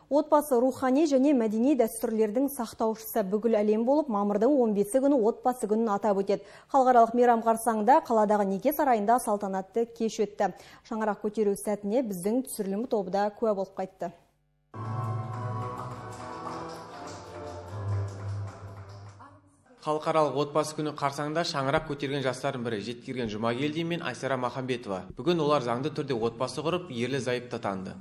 Отбасы рухани және мәдени дәстүрлердің сақтаушысы бүкіл әлем болып, мамырдың 15 күні отбасы күнін атап өтеді. Халықаралық мейрам қарсаңында қаладағы неке сарайында салтанатты кеш өтті. Шаңырақ көтеру сәтіне біздің түсірілім тобы да куә болып қайтты. Халықаралық отбасы күні қарсаңында шаңырақ көтерген жастардың бірі Жеткерген Жұмагелди мен Айсара Махамбетова. Бүгін олар заңды түрде отбасы құрып, ерлі зайыпты танды.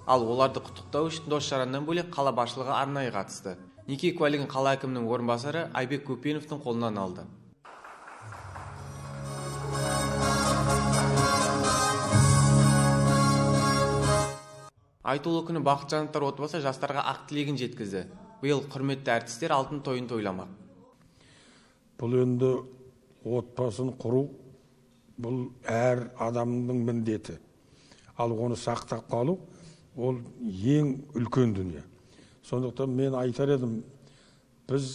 Ал оларды құттықтау үшін дос жараннан бөлек қала басшылығы арнайы қатысты. Неке куәлігін қала әкімінің орынбасары Айбек Көпеновтың қолынан алды. Айтулы күні Бақытжановтар отбасы жастарға ақ тілегін жеткізді. Биыл құрметті әртістер алтын тойын тойламақ. Бұл енді отбасын құру, бұл әр адамның міндеті. Ал оны сақтап қалу, ол ең үлкен дүние. Сондықтан мен айтар едім, біз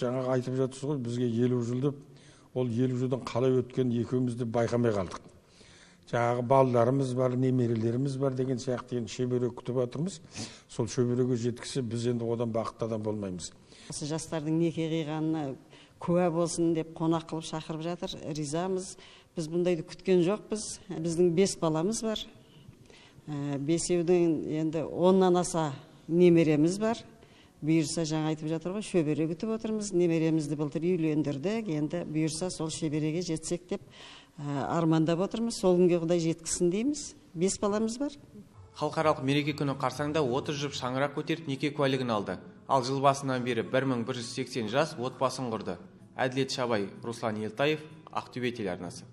жаңағы айтып жатырсыз ғой, бізге 50 жыл деп, ол 50 жылдан қалай өткен екеумізді байқамай қалдық. Жаңағы балаларымыз бар, немерелеріміз бар деген сияқты шөбере күтіп жатырмыз. Сол шөбереге жеткізсе, біз енді одан бақытты адам болмаймыз. Осы жастардың неке қиғанына куә болсын деп қонақ қылып шақырып жатыр. Ризамыз. Біз бұндайды күткен жоқпыз. Біздің 5 баламыз бар. 5-еудің енді 10-нан аса немереміз бар. Бұйырса жаңа айтып жатыр ғой, шөбере күтіп отырмыз. Немеремізді былтыр үйлендірдік. Енді бұйырса сол шөбереге жетсек деп армандап отырмыз. Сол күнге Құдай жеткізсін дейміз. 5 баламыз бар. Халықаралық мереке күні қарсаңда 30 жұп шаңырақ көтеріп неке куәлігін алды. Ал жыл басынан бері 1180 жас отбасын құрды. Әділет Шабай, Руслан Елтаев, Ақтөбе телеарнасы.